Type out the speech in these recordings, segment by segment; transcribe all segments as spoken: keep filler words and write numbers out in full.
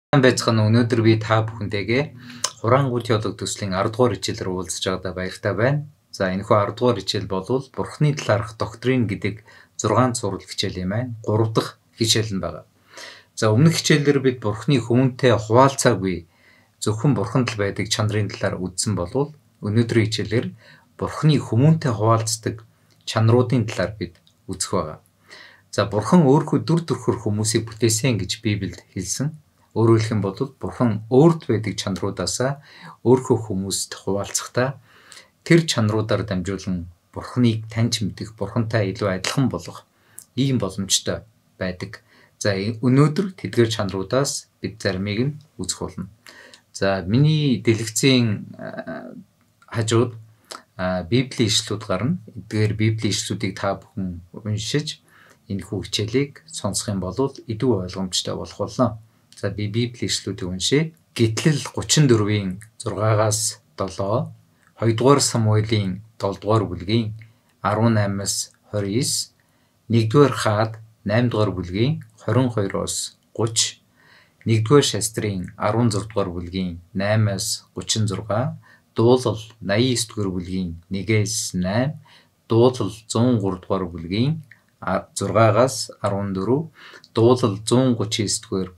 Байцгаана өнөөдөр би та бүхэнтэйгээ Хураангуй теолог төслийн арда дугаар хичээлээр уулзж байгаадаа баяртай байна. За энэхүү арда дугаар хичээл бол Бурхны талаарх доктрин гэдэг зургаан цуврал хичээл юм байна. гурав дахь хичээл нь байгаа. За өмнөх хичээлээр бид Бурхны хүмүүнтэй хуваалцаагүй зөвхөн Бурханд л байдаг чанарын талаар үзсэн болвол өнөөдрийн хичээлээр Бурхны хүмүүнтэй хуваалцдаг чанаруудын талаар бид үзэх байгаа. За Бурхан өөрхөө дүр төрхөр хүмүүсийг бүтээсэн гэж Библиэд хэлсэн. Өөрөөр хэлэх юм бол Бурхан өөрт байдаг чанаруудаасаа өөрхөө хүмүүст хуваалцахдаа тэр чанаруудаар дамжуулан Бурханыг таньж мэдэх, Бурхантай илүү адилхан болгох ийм боломжтой байдаг. За өнөөдөр тэдгээр чанаруудаас бид заримыг нь үзэх болно. За миний дэлгэцийн хажууд Библийн ишлүүд гарна. Эдгээр Библийн ишлүүдийг та бүхэн уншиж энэхүү хичээлийг сонсох юм бол илүү ойлгомжтой болох болно. За би Библийн ишлүүдийг уншия. Гитлэл гучин дөрвийн зургаагаас долоо, хоёрдугаар Самуэлийн долдугаар бүлгийн арван наймаас хорин девять, нэгдүгээр Хаад наймдугаар бүлгийн хорин хоёроос гуч, нэгдүгээр Шастрын арван зургаадугаар бүлгийн наймаас гучин зурга, дуулал наян есдүгээр бүлгийн нэгээс найман, дуулал зуун гуравдугаар бүлгийн зургаагаас арван дөрөв, дуулал зуун гучин есдүгээр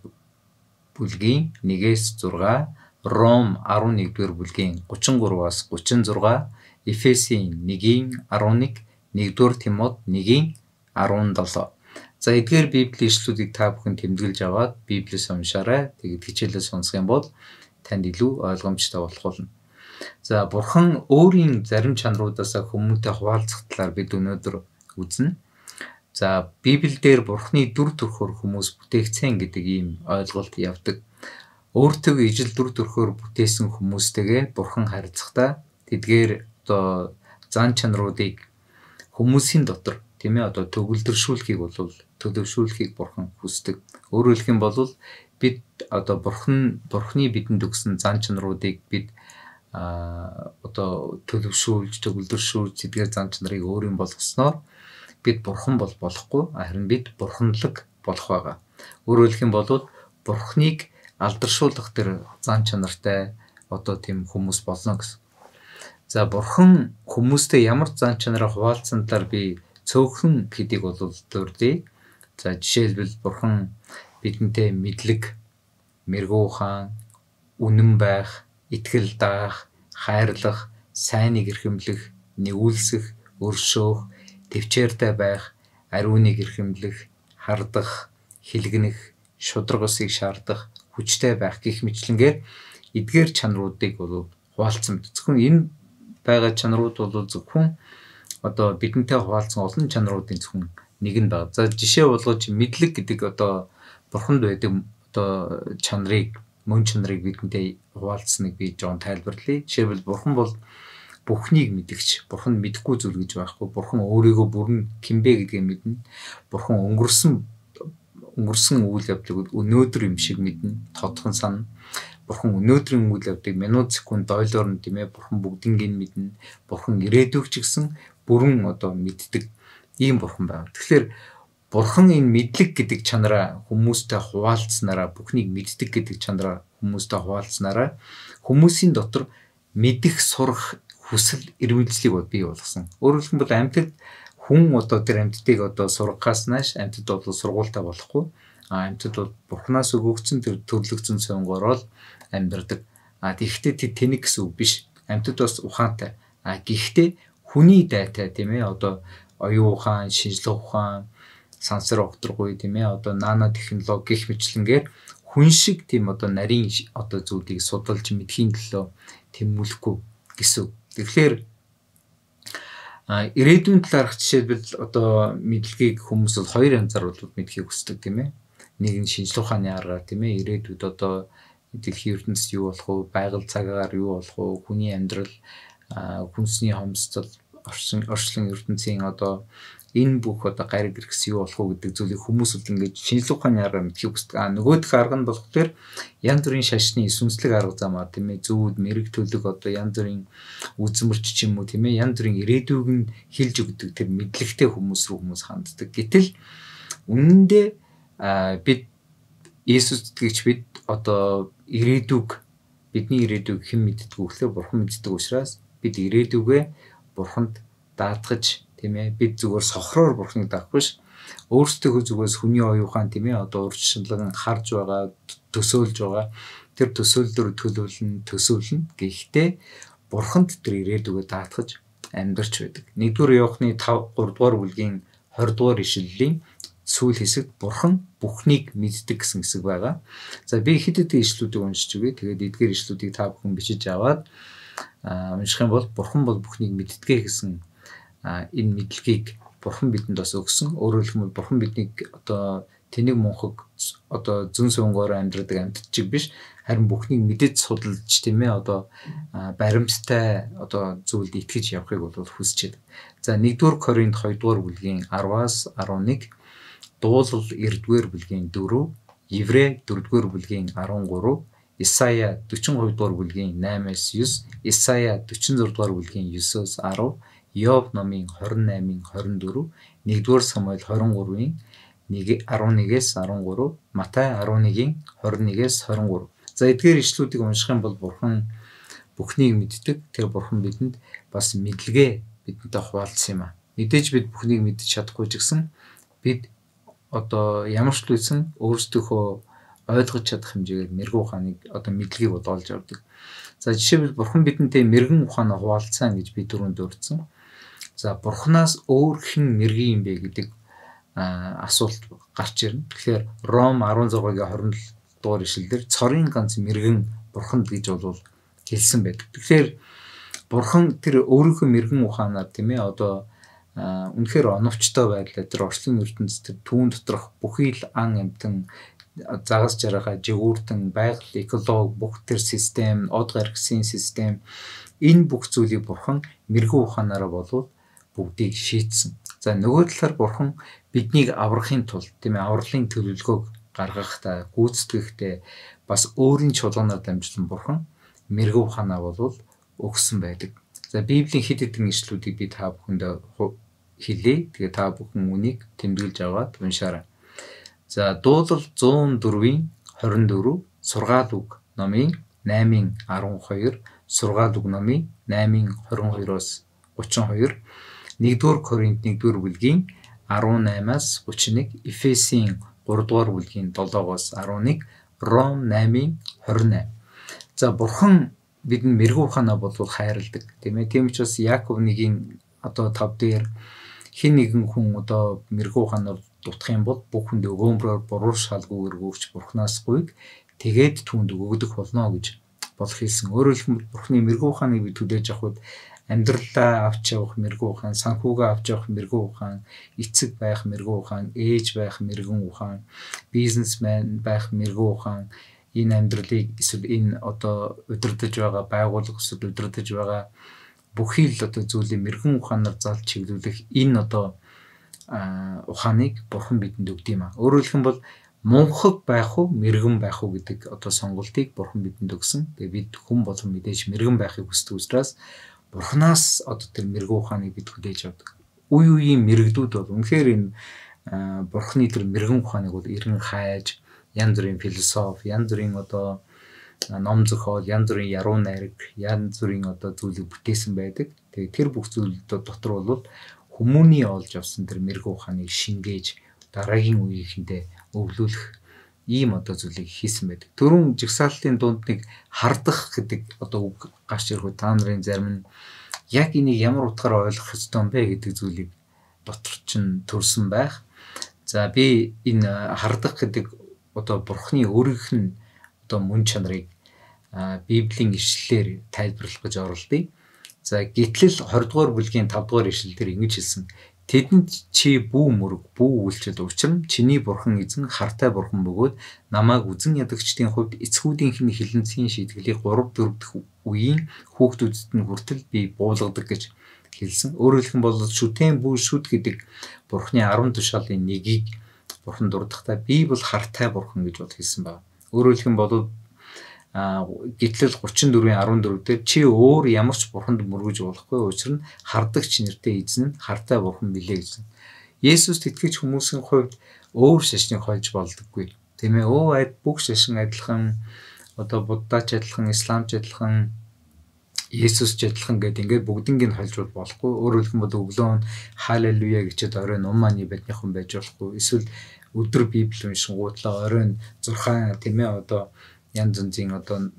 бүлгийн нэгээс зурга, Ром арван нэгдүгээр бүлгийн гучин гураваас гучин зурга, Эфесийн нэгийн арван нэг, нэгдүгээр Тимот нэгийн арван долоо. За эдгээр Библийн ишлүүдийг та бүхэн тэмдэглэж аваад Библиэс уншаарай. Тэгээд хичээлээ сонсох юм бол танд илүү ойлгомжтой болох болно. За Бурхан өөрийн зарим чанаруудаасаа хүмүүнтэй хуваалцах талаар бид өнөөдөр үзнэ. За Библиэлд Бурханы дүр төрхөөр хүмүүс бүтээгдсэн гэдэг ийм ойлголт явдаг. Өөртөө ижил дүр төрхөөр бүтээсэн хүмүүстэйгээ Бурхан харилцахдаа тэдгээр одоо зан чанаруудыг хүмүүсийн дотор тийм ээ одоо төгөлдршүүлэхийг бол төлөвшүүлэхийг Бурхан хүсдэг. Өөрөөр хэлэх юм бол бид одоо Бурхан Бурханы бидэнд өгсөн зан чанаруудыг бид а одоо төлөвшүүлж, төгөлдршүүлж тэдгээр зан чанарыг өөрийн болгосноор бид Бурхан бол болохгүй, харин бид бурханлаг болох байгаа. Өөрөөр хэлэх юм бол Бурханыг алдаршуулах тэр зан чанартай одоо тийм хүмүүс болно гэсэн. За Бурхан хүмүүстэй ямар зан чанараа хуваалцсан талаар би цөөхөн хэдийг бол дурдъя. За жишээлбэл Бурхан бидэнтэй мэдлэг, мэрэгүү ухаан, үнэн байх, итгэл даах, хайрлах, сайныг эрхэмлэх, нэгүүлсэх, өршөөх, төвчээртэй байх, ариуныг эрхэмлэх, хардах, хилгэнэх, шудраг усыг шаардах, хүчтэй байх гэх мэтлэнгээр эдгээр чанаруудыг бол хуваалцсан мэт. Зөвхөн энэ байгаа чанарууд бол зөвхөн одоо бидэнтэй хуваалцсан олон чанаруудын зөвхөн нэг нь байна. За жишээ болгож мэдлэг гэдэг одоо Бурханд байдаг одоо чанарыг, мөн чанарыг бидэнтэй хуваалцсныг би жоон тайлбарлая. Жишээлбэл Бурхан бол бүхнийг мэдгч, Бурхан мэдэхгүй зүйл гэж байхгүй. Бурхан өөрийгөө бүрэн кимбэ гэдгийг мэднэ. Бурхан өнгөрсөн өнгөрсөн үйл явдлыг өнөөдөр юм шиг мэднэ, тодхон санана. Бурхан өнөөдрийн үйл явдлыг минут секунд дойлоор нь тийм ээ Бурхан бүгднийг мэднэ. Бурхан ирээдүйг ч гэсэн бүрэн одоо мэддэг ийм Бурхан байна. Тэгэхээр Бурхан энэ мэдлэг гэдэг чанараа хүмүүстэй хуваалцснараа, бүхнийг мэддэг гэдэг чанараа хүмүүстэй хуваалцснараа хүмүүсийн дотор мэдэх, сурах хүсэл эрмэлзлийг бий болгосон. Өөрөөр хэлбэл амьтад хүн одоо тэр амьтдыг одоо сургахаас нааш амьтад бол сургуультай болохгүй. А амьтад бол Бурханаас өгөгдсөн тэр төрлөгцөн сонгороор амьдардаг. А тэгэхдээ тэр тэнэг гэсэн үг биш. Амьтад бас ухаантай. А гэхдээ хүний дайтай тийм ээ одоо оюун ухаан, шинжлэх ухаан, сансар огторгүй тийм ээ одоо нано технологи гэх мэтлэнгээр хүн шиг тийм одоо нарийн одоо зүйлийг судалж мэдхийн төлөө тэмүүлэхгүй гэсэн. Тэгэхээр ирээдүйн талаарх жишээлбэл одоо мэдлэгийг хүмүүс бол хоёр янзаар бол мэдхийг хүсдэг тийм ээ. Нэг нь шинжлэх ухааны аргаар тийм ээ ирээдүйд одоо дэлхийн ертөнцид юу болох вэ, байгаль цагаагаар юу болох вэ, хүний амьдрал, хүнсний хомсдол, орчин орчлон ертөнцийн одоо энэ бүх одоо гариг хэрэгс юу болох вэ гэдэг зүйлийг хүмүүс бол ингэж шинжлэх ухааны аргаар мэдхийг хүсдэг. А нөгөөх арга нь болохоор янз бүрийн шашны сүнслэг арга замаар тийм ээ зүуд мэрэг төлөг одоо янз бүрийн үзмэрч ч юм уу тийм ээ янз бүрийн ирээдүйг нь хэлж өгдөг тэр мэдлэгтэй хүмүүс рүү хүмүүс ханддаг. Гэтэл үнэндээ бид Есүс итгэгч бид одоо ирээдүг бидний ирээдүг хэн мэддэг вэ гэхээр Бурхан мэддэг учраас бид ирээдүгээ Бурханд даатгаж тийм ээ бид зүгээр сохроор Бурханыг даах биш өөрсдөө зүгээс хүний оюухан тийм ээ одоо урьдчилан харж байгаа төсөөлж байгаа тэр төсөөллөөр төлөвлөн төсөөлнө гэхдээ Бурханд тэр ирээдүгээ даатгаж амьдарч байдаг. нэгдүгээр Иохны five three дугаар бүлгийн twenty дугаар ишлэлийн сүүл хэсэгт Бурхан бүхнийг мэддэг гэсэн хэсэг байгаа. За би хэд хэдэн ишлүүдийг уншиж өгье. Тэгээд эдгээр ишлүүдийг та бүхэн бичиж аваад унших юм бол Бурхан бол бүхнийг мэддэг гэсэн энэ мэдлэгийг Бурхан бидэнд бас өгсөн. Өөрөөр хэлбэл Бурхан биднийг одоо тэнэг мунхаг одоо зүн сунгоор амьдрдаг амьтд чиг биш харин бүхнийг мэдэж судалж тийм ээ одоо баримттай одоо зүйлд итгэж явахыг бол хүсэж байна. За нэгдүгээр Коринт two дугаар бүлгийн ten-аас eleven, дуулал nine-р бүлгийн four, Еврей four дугаар бүлгийн thirteen, Исая forty-two дугаар бүлгийн eight-аас nine, Исая forty-six дугаар бүлгийн nine-аас ten, Йов номын twenty-eight twenty-four, нэгдүгээр Самуэль twenty-three-ийн eleven-ээс thirteen, Матай eleven-ийн twenty-one-ээс twenty-three. За эдгээр ишлүүдийг унших юм бол Бурхан бүхнийг мэддэг. Тэр Бурхан бидэнд бас мэдлэгээ бидэнтэй хуваалцсан юм а. Мэдээж бид бүхнийг мэдж чадахгүй ч гэсэн бид одоо ямар ч зүйлсэн өөрсдийнхөө ойлгож чадах хэмжээгээр мэрэгэн ухааныг одоо мэдлэгийг бодоолж авдаг. За жишээлбэл Бурхан бидэнтэй мэрэгэн ухаанаа хуваалцсан гэж би түрүүнд дурдсан. За Бурханаас өөр хэн мэрэгэн юм бэ гэдэг асуулт гарч ирнэ. Тэгэхээр Ром sixteen-гийн twenty-seven дугаар ишлэлээр цорын ганц мэрэгэн Бурханд гэж бол хэлсэн байдаг. Тэгэхээр Бурхан тэр өөрийнхөө мэрэгэн ухаанаар тийм ээ одоо үнэхээр оновчтой байдлаар тэр орчлон ертөнцийн тэр түүн доторх бүхий л ан амьтан загас жаргахаа жигүүртэн байгаль экологи бүх тэр систем од гаргасан систем энэ бүх зүйлийг Бурхан мэрэгэн ухаанаараа болов бүгдийг шийдсэн. За нөгөө талаар Бурхан биднийг аврахын тулд тийм ээ авралын төлөвлөгөөг гаргахдаа гүйцэтгэхдээ бас өөрийн чуулганаар дамжуулан Бурхан мэрэгэн ухаанаа болов өгсөн байдаг. За Библийн хэд хэдэн ишлүүдийг би та бүхэнд хэлье. Тэгээ та бүхэн үнийг тэмдэглэж аваад уншаарай. За дуулал one oh four-ийн twenty-four, сургаал үг номын eight twelve, сургаал үг номын eight twenty-two-оос thirty-two, нэгдүгээр Коринт one-р бүлгийн eighteen-аас thirty-one, Эфесийн three дугаар бүлгийн seven-оос eleven, Ром eight twenty-eight. За Бурхан бидний мэрэгэн ухаанаа болов хайрладаг. Тийм ээ. Тийм учраас Яаков one-ийн одоо five дээр хэн нэгэн хүн одоо мэрэгэн ухаанаар дутах юм бол бүх хүнд өгөөмрөөр буруу шалгуугаар өгч Бурханаас гуйг тэгээд түүнд өгөгдөх болно гэж бол хэлсэн. Өөрөөр хэлбэл Бурханы мэрэгэн ухааныг бид хүлээж авахд амьдралаа авч явах мэрэгэн ухаан, санхүүгээ авч явах мэрэгэн ухаан, эцэг байх мэрэгэн ухаан, ээж байх мэрэгэн ухаан, бизнесмен байх мэрэгэн ухаан, энэ амьдралыг эсвэл энэ одоо удирдах байгаа байгууллага эсвэл удирдах байгаа бүхий л одоо зүйлийг мэрэгэн ухаанаар залж чиглүүлэх энэ одоо ухааныг Бурхан бидэнд өгд юм а. Өөрөөр хэлэх юм бол мунхаг байх уу, мэрэгэн байх уу гэдэг одоо сонголтыг Бурхан бидэнд өгсөн. Тэгээ бид хүн болон мэдээж мэрэгэн байхыг хүсдэг учраас Бурханаас одоо тэр мэрэгэн ухааныг бид хүлээж авдаг. Үе үеийн мэрэгдүүд бол үнэхээр энэ Бурханы тэр мэрэгэн ухааныг бол эрен хайж, янз бүрийн философи, янз бүрийн одоо ном зохиол, янз бүрийн яруу найраг, янз бүрийн одоо зүйлийг бүтээсэн байдаг. Тэгээ тэр бүх зүйл дотор бол хүмүүний олж авсан тэр мэрэгэн ухааныг шингээж дараагийн үеийнхэндээ өвлүүлэх ийм одоо зүйлийг хийсэн байдаг. Түрүүн жигсаалтын дунд нэг хардах гэдэг одоо үг гарч ирэх та нарын зарим нь яг энийг ямар утгаараа ойлгох ёстой юм бэ гэдэг зүйлийг дотор чинь төрсэн байх. За би энэ хардах гэдэг одоо Бурханы өөрийнх нь одоо мөн чанарыг Библийн ишлэлээр тайлбарлах гэж оролдъё. За гитлэл twenty дугаар бүлгийн five дугаар ишлэлээр ингэж хэлсэн. Тэдэнд чи бүү мөрөг, бүү үйлчил учир нь чиний Бурхан эзэн хартай Бурхан бөгөөд намайг үзэн ядагчдын хувьд эцгүүдийнх нь хилэнцгийн шийтгэлийг three four дахь үеийн хүүхдүүдэд нь хүртэл би буулгадаг гэж хэлсэн. Өөрөөр хэлэх юм бол шүтэн бүү шүд гэдэг Бурханы ten тушаалын нэгийг Бурхан дурдахдаа би бол хартай Бурхан гэж бод хэлсэн байна. Өөрөөр хэлэх юм бол гитлэл thirty-four fourteen дээр чи өөр ямар ч Бурханд мөргөж болохгүй учир нь хардагч нэртэй эзэн нь хартай Бурхан билээ гэсэн. Есүст итгэж хүмүүсийн хувьд өөр шашныг хольж болдоггүй. Тийм ээ. Өө айд бүх шашин адилхан одоо буддач адилхан, исламч адилхан, Есүсч адилхан гэдэг ингээд бүгднийг нь холжуул болохгүй. Өөрөөр хэлбэл өглөө нь халелуя гэчихэд оройн ум маань биднийхэн байж болохгүй. Эсвэл өдөр Библи уншингуудлаа оройн зурхаан тийм ээ одоо янз янзын одоо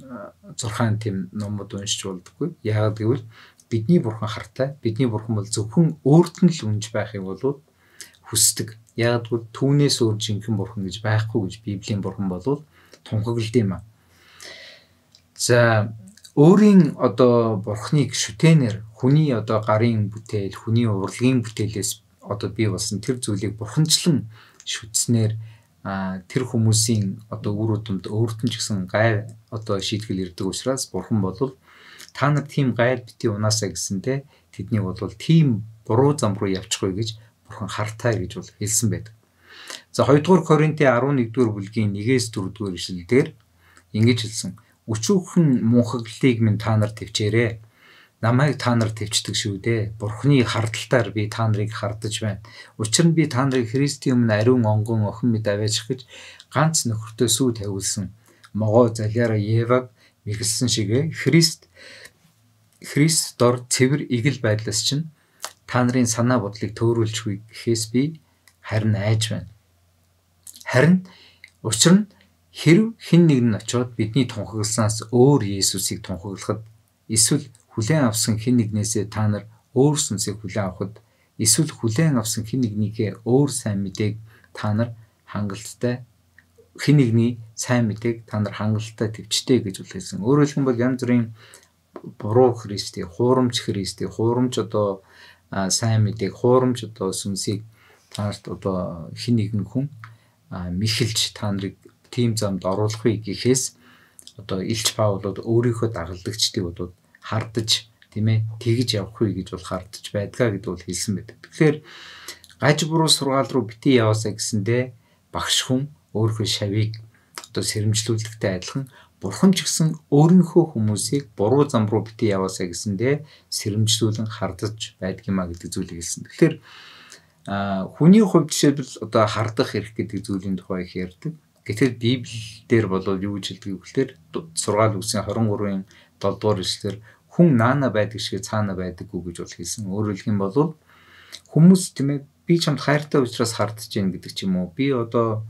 зурхаан тийм номууд уншиж болдоггүй. Яагаад гэвэл бидний бурхан хартай. Бидний бурхан бол зөвхөн өөрт нь л үнж байхыг болов хүсдэг. Яагаад гэвэл түүнээс өөр жинхэнэ бурхан гэж байхгүй гэж Библийн бурхан болов тунхаглад юм аа. За өөрийн одоо бурхныг шүтэнээр хүний одоо гарын бүтээл, хүний урлагийн бүтээлээс одоо бий болсон тэр зүйлийг бурханчлан шүтснээр тэр хүмүүсийн одоо үр удамд өөрт нь ч гэсэн гай одоо шийтгэл ирдэг учраас бурхан болвол та нар тийм гайд бити унаасаа гэсэндэ тэднийг болвол тийм буруу зам руу явчихгүй гэж бурхан хартай гэж бол хэлсэн байдаг. За хоёрдугаар Коринтын арван нэгдүгээр бүлгийн нэгээс дөрөвдүгээр ишлэлдэр ингэж хэлсэн. Өчүүхэн мунхаглалыг минь та нар төвчээрэй. Намайг та нар төвчдөг шүү дээ. Бурхны хардталтаар би та нарыг хардаж байна. Учир нь би та нарыг Христийн өмнө ариун онгон охин мэд аваачих гэж ганц нөхөртөө сүү тавиулсан. Могоо залиараа Еваг мэхэлсэн шигэ Христ Христ дор цэвэр игэл байдлаас чинь та нарын санаа бодлыг төөрүүлчихгүй гэхээс би харин айж байна. Харин учир нь хэрв хэн нэг нь очиод бидний тунхагласнаас өөр Есүсийг тунхаглахад эсвэл хүлээн авсан хэн нэгнээсээ та нар өөр сүнсийг хүлээн авахд эсвэл хүлээн авсан хэн нэгнийхээ өөр сайн мэдээг та нар хангалттай хэн нэгний сайн мэдээг та нар хангалттай төвчтэй гэж үлээсэн. Өөрөөр хэлбэл янз бүрийн буруу Христийг, хуурамч Христийг, хуурамч одоо сайн мэдээг, хуурамч одоо сүнсийг та нарт одоо хэн нэгэн хүн мэхэлж та нарыг тийм замд оруулахыг гэхээс одоо Илч Паул бол өөрийнхөө дагалдагчдыг бол хардаж тийм ээ тэгж явахгүй гэж бол хардаж байдгаа гэдэг бол хэлсэн байдаг. Тэгэхээр гаж буруу сургаал руу бити яваасаа гэсэндэ багш хүн өөрийнхөө шавийг одоо сэрэмжлүүлэхтэй адилхан бурхан ч гэсэн өөрийнхөө хүмүүсийг буруу зам руу бити яваасаа гэсэндэ сэрэмжлүүлэн хардаж байдаг юмаа гэдэг зүйлийг хэлсэн. Тэгэхээр хүний хувьд жишээлбэл одоо хардах эрх гэдэг зүйлийн тухай их ярьдаг. Гэтэл Библиэлд бол юу гэж хэлдэг вэ гэхээр сургаал үгсийн хорин гурвын долоо дугаар эшлэлээр хүн наана байдаг шиг цаана байдаггүй гэж бол хэлсэн. Өөрөөр хэлэх юм бол хүмүүс тийм ээ би чамд хайртай учраас хардж гин гэдэг ч юм уу. Би одоо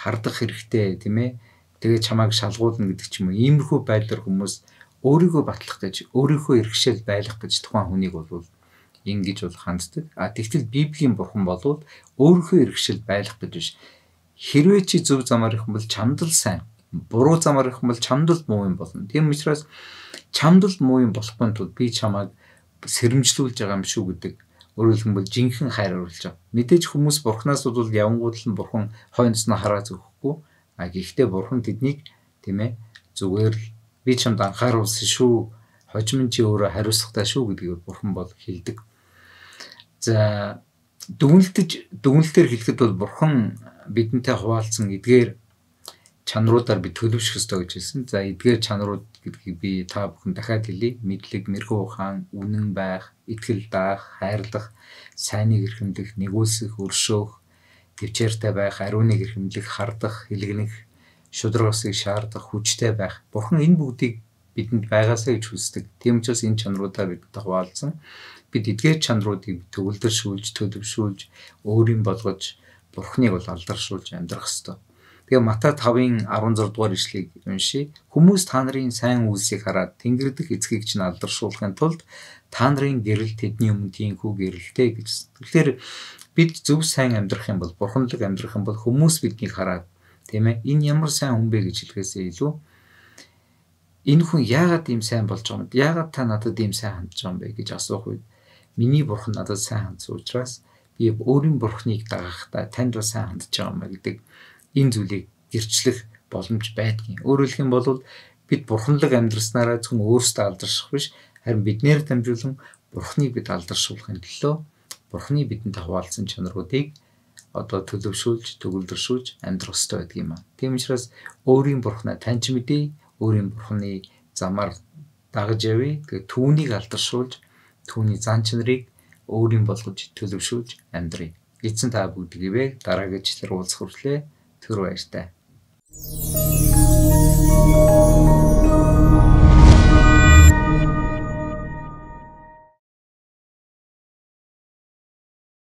хардах хэрэгтэй тийм ээ. Тэгээ чамайг шалгуулна гэдэг ч юм уу. Иймэрхүү байдлаар хүмүүс өөрийгөө батлах гэж, өөрийнхөө эрхшээл байлгах гэж тухайн хүнийг бол ингэж бол ханддаг. А тэгтэл Библийн бурхан бол өөрийнхөө эрхшээл байлгах гэж биш. Хэрвээ чи зөв замаар ирэх юм бол чамд л сайн. Буруу замаар ирэх юм бол чамд л муу юм болно. Тийм учраас чамд л муу юм болохгүй тул би чамайг сэрэмжлүүлж байгаа юм шүү гэдэг. Өөрөөр хэлбэл жинхэнэ хайр оруулж байгаа. Мэдээж хүмүүс бурхнаас бол явангууд л бурхан хойноос нь хараа зөөхгүй. А гэхдээ бурхан тэднийг тийм ээ зүгээр л би чамд анхааруулсан шүү. Хожим чи өөрөө хариуцлагатай шүү гэдгийг бурхан бол хэлдэг. За дүгнэлтэж дүгнэлтээр хэлэхэд бол бурхан бидэнтэй хуваалцсан эдгээр чанаруудаар би төлөвшөх ёстой гэж хэлсэн. За эдгээр чанарууд гэдгийг би та бүхэн дахиад хэлье. Мэдлэг, мэрхүү ухаан, үнэн байх, итгэл даах, хайрлах, сайныг эрхэмлэх, нэгүүлсэх, өршөөх, төвчээртэй байх, ариуныг эрхэмлэх, хардах, хэлгэнэх, шударгасыг шаардах, хүчтэй байх. Бурхан энэ бүгдийг бидэнд байгаасаа гэж хүсдэг. Тийм учраас энэ чанаруудаар бидэнтэй хуваалцсан. Бид эдгээр чанаруудыг төвлөршүүлж, төлөвшүүлж, өөрийн болгож Бурхныг бол алдаршуулж амьдрах ёстой. Тэгээ Матай тавын арван зургаадугаар дугаар ишлэгийг уншийе. Хүмүүс та нарын сайн үйлсийг хараад Тэнгэр дэх эцгийг чинь алдаршуулахын тулд та нарын гэрэл тэдний өмнө тийхүү гэрэлтэй гэж. Тэгэхээр бид зөв сайн амьдрах юм бол, бурханлаг амьдрах юм бол хүмүүс биднийг хараад тийм ээ энэ ямар сайн хүн бэ гэж хэлэхээсээ илүү энэ хүн яагаад ийм сайн болж байгаа юм бэ? Яагаад та надад ийм сайн хандж байгаа юм бэ гэж асуух үед миний бурхан надад сайн хандсан учраас би өөрийн бурхныг дагахтаа танд бас сайн хандж байгаа юм гэдэг энэ зүйлийг гэрчлэх боломж байдгийн. Өөрөөр хэлэх юм бол бид бурханлаг амьдрснараа зөвхөн өөрсдөө алдарших биш, харин биднээр дамжуулан бурхныг бид алдаршуулахын төлөө бурхны бидэнтэй хуваалцсан чанаруудыг одоо төлөвшүүлж, төгөлдршүүлж амьдрах ёстой байдаг юм аа. Тийм учраас өөрийн бурхнаа таньж мэдээ, өөрийн бурхны замаар дагаж явъя. Тэгээ түүнийг алдаршуулж, түүний зан чанарыг өөрийн болгож төлөвшүүлж амьдрья. Эцэн та бүгдийг дараагийн ишлэлээр уулзах хүртлээр түр баяртай. you